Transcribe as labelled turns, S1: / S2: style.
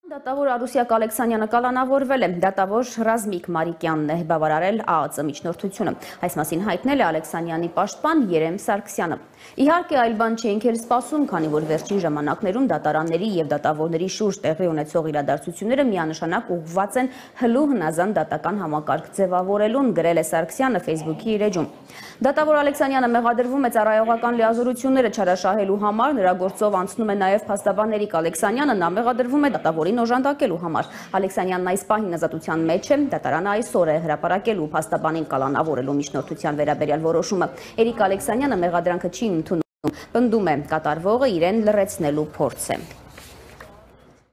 S1: Դատավոր Արուսյակ Ալեքսանյանը կալանավորվել է, դատավոր Ռազմիկ Մարիկյանն է բավարարել ԱԱԾ միջնորդությունը։ Այս մասին հայտնել է Ալեքսանյանի պաշտպան Երեմ Սարգսյանը։ Իհարկե այլ բան չէինք էլ սպասում, քանի որ վերջին ժամանակներում դատարանների եւ դատավորների շուրջ տեղի ունեցող իրադարձությունները միանշանակ ուղղված են հլու հնազանդ դատական համակարգ ձևավորելուն, գրել է Սարգսյանը Facebook-ի իր էջում։ Դատավոր Ալեքսանյանը մեղադրվում է ծառայողական լիազորությունները չարաշահելու համար, նրա գործով անցնում է նաև փաստաբան Էրիկ Ալեքսանյանը, նա մեղադրվում է դատավորին օժանդակելու համար։ Ալեքսանյանն այս պահին ազատության մեջ է, դատարանը այսօր է հրապարակելու փաստաբանին կալանավորելու միջնորդության վերաբերյալ որոշումը։ Էրիկ Ալեքսանյանը մեղադրանքը չի ընդունում, պնդում է կատարվողը իրեն լռեցնելու փորձ է։